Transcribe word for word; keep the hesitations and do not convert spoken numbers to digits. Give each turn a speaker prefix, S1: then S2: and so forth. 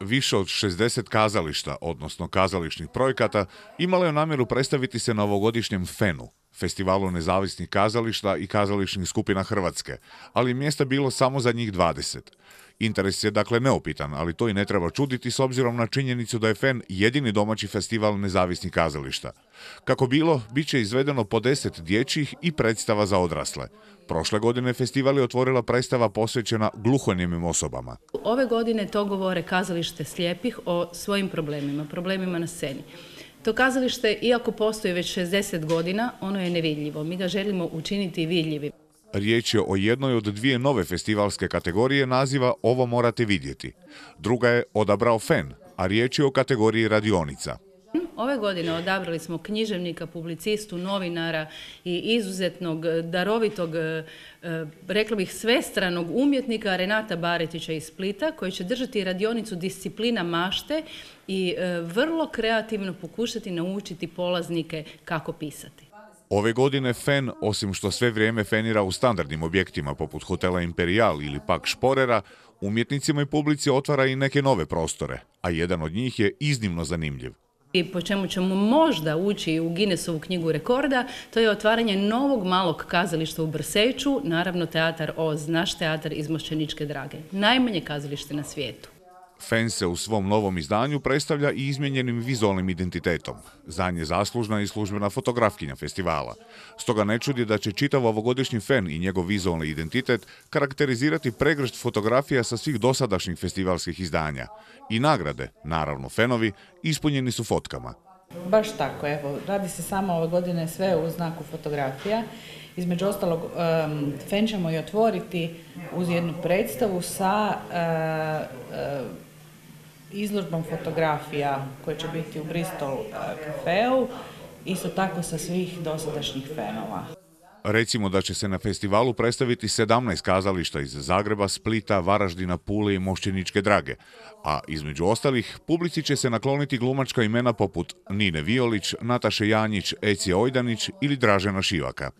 S1: Više od šezdeset kazališta, odnosno kazališnih projekata, imalo je namjeru predstaviti se na ovogodišnjem fenu, Festivalu nezavisnih kazališta i kazališnih skupina Hrvatske, ali mjesta bilo samo za njih dvadeset. Interes je dakle neupitan, ali to i ne treba čuditi s obzirom na činjenicu da je fen jedini domaći festival nezavisnih kazališta. Kako bilo, bit će izvedeno po deset dječjih i predstava za odrasle. Prošle godine festival je otvorila predstava posvećena gluhonijemim osobama.
S2: Ove godine to govore kazalište slijepih o svojim problemima, problemima na sceni. To kazalište, iako postoji već šezdeset godina, ono je nevidljivo. Mi ga želimo učiniti vidljivim.
S1: Riječ je o jednoj od dvije nove festivalske kategorije naziva Ovo morate vidjeti. Druga je odabrao fen, a riječ je o kategoriji radionica.
S2: Ove godine odabrali smo književnika, publicistu, novinara i izuzetnog, darovitog, rekla bih svestranog umjetnika Renata Baretića iz Splita, koji će držati radionicu Disciplina mašte i vrlo kreativno pokušati naučiti polaznike kako pisati.
S1: Ove godine fen, osim što sve vrijeme fenira u standardnim objektima poput hotela Imperial ili pak Šporera, umjetnicima i publici otvara i neke nove prostore, a jedan od njih je iznimno zanimljiv.
S2: I po čemu ćemo možda ući u Guinnessovu knjigu rekorda, to je otvaranje novog malog kazališta u Brseču, naravno Teatar Oz, naš teatar iz Mošćeničke Drage, najmanje kazalište na svijetu.
S1: Fen se u svom novom izdanju predstavlja i izmijenjenim vizualnim identitetom. Za nje zaslužna i službena fotografkinja festivala. Stoga ne čudi da će čitav ovogodišnji fen i njegov vizualni identitet karakterizirati pregršt fotografija sa svih dosadašnjih festivalskih izdanja. I nagrade, naravno fenovi, ispunjeni su fotkama.
S3: Baš tako, evo, radi se samo ove godine sve u znaku fotografija. Između ostalog, um, fen ćemo i otvoriti uz jednu predstavu sa uh, uh, izložbom fotografija koje će biti u Bristol uh, kafeu, isto tako sa svih dosadašnjih fenova.
S1: Recimo da će se na festivalu predstaviti sedamnaest kazališta iz Zagreba, Splita, Varaždina, Pule i Mošćeničke Drage, a između ostalih publici će se nakloniti glumačka imena poput Nine Violić, Nataše Janjić, Eci Ojdanić ili Dražena Šivaka.